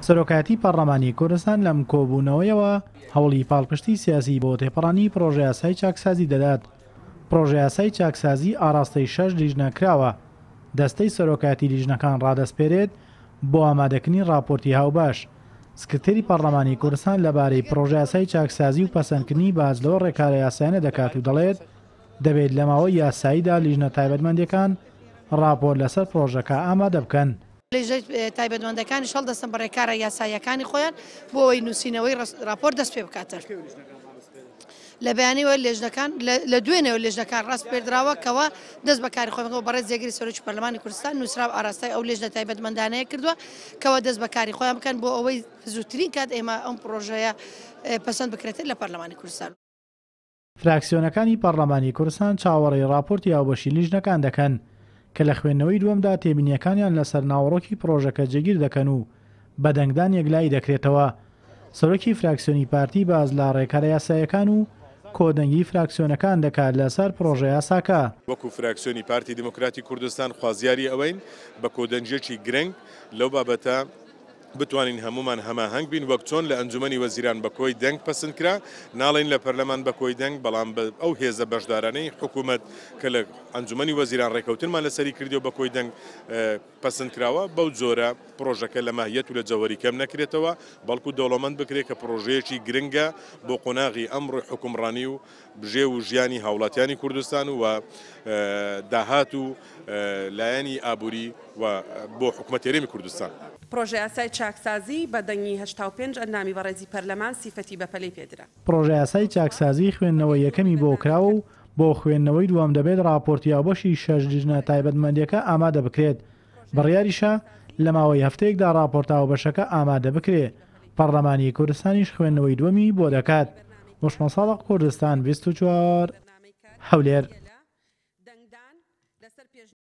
سەرۆکایەتی پەڕلەمانی کوردستان لەم کۆبوونەوەیەوە هەوڵی پاڵپشتی سیاسی بۆ تێپەڕاندنی پڕۆژەیاسای چاکسازی دەدات. پڕۆژەیاسای چاکسازی ئاڕاستەی شەش لیژنە کراوە، دەستەی سەرۆکایەتی لیژنەکان ڕادەسپێرێت بۆ ئامادەکردنی ڕاپۆرتی هاوبەش. سکرتێری پەڕلەمانی کوردستان لەبارەی پڕۆژەیاسای چاکسازی و پەسەندکردنی باس لەو ڕێکارە یاسایانە دەکات و دەڵێت، دەبێت لە ماوەی یاساییدا لیژنە تایبەتمەندەکان ڕاپۆرت لەسەر پڕۆژەکە ئامادە بکەن. لیژنە تایبەتمەندەکانیش هەڵدەستن بە ڕێکارە یاساییەکانی خۆیان بۆ ئەوەی نووسینەوەی ڕاپۆرت دەست پێ بکاتن. لە بەیانیەوە لێژنەکان لە دوێنێوە لێژنەکان ڕاسپێردراوە کەوا دەست بە کاری خۆیان بکەن. بەڕێز جێگری سەرۆکی پەرلەمانی کوردستان نووسراو ئاراستەی ئەو لێژنە تایبەتمەندانەیە کردووە کەوا دەست بە کاری خۆیان بکەن بۆ ئەوەی زووترین کات ئێمە ئەم پڕۆژەیە پەسەند بکرێتن لە پەرلەمانی کوردستان. فراکسیۆنەکانی پەڕلەمانی کوردستان چاوەڕێی ڕاپۆرتی هاوبەشی لیژنەکان دەکەن، کە لە خوێندنەوەی دووەمدا تێبینییەکانیان لەسەر ناوەڕۆکی پڕۆژەکە جێگیر دەکەن و بە دەنگدان یەکلایی دەکرێتەوە. سەرۆکی فراکسیۆنی پارتی باس لە ڕێکارە یاساییەکان و کۆدەنگیی فراکسیۆنەکان دەکات لەسەر پڕۆژەیاساکە. وەکو فراکسیۆنی پارتی دیموکراتی کوردستان خوازیاری ئەوەین بە کۆدەنگییەکی گرنگ لەو بابەتە بتوانین هەموومان هەماهەنگ بین، وەک چۆن لە ئەنجومەنی وەزیران بە کۆی دەنگ پەسند کرا، ناڵێین لە پەرلەمان بە کۆی دەنگ، بەڵام بە ئەو هێزە بەشدارانەی حکومەت کە لە ئەنجومەنی وەزیران ڕێکەوتنمان لەسەری کردی و بە کۆی دەنگ پەسند کراوە، بەو جۆرە پڕۆژەکە لە ماهیەت و لە جەوهەری کەم نەکرێتەوە، بەڵکو دەوڵەمەند بکرێت کە پڕۆژەیەکی گرنگە بۆ قۆناغی ئەمڕۆی حوکمڕانی و بژێو و ژیانی هاوڵاتیانی کوردستان و داهات و لایەنی ئابووری و بۆ حکومەتی هەرێمی کوردستان. پڕۆژەیاسای چاکسازی بە دەنگی 85 ئەندامی بەڕێزی پەرلەمان سیفەتی بەپەلەی پێدرا. پڕۆژەیاسای چاکسازی خوێندنەوەی یەکەمی بۆ کراوە و بۆ خوێندنەوەی دووەم دەبێت ڕاپۆرتی هاوبەشی شەش لیژنە تایبەتمەندییەکە ئامادە بکرێت، بڕیاریشە لە ماوەی هەفتەیەکدا ڕاپۆرتە هاوبەشەکە ئامادە بکرێ، پەڕلەمانی کوردستانیش خوێندنەوەی دووەمی بۆ دەکات. وشمە ساڵح کوردستان 24، هەولێر.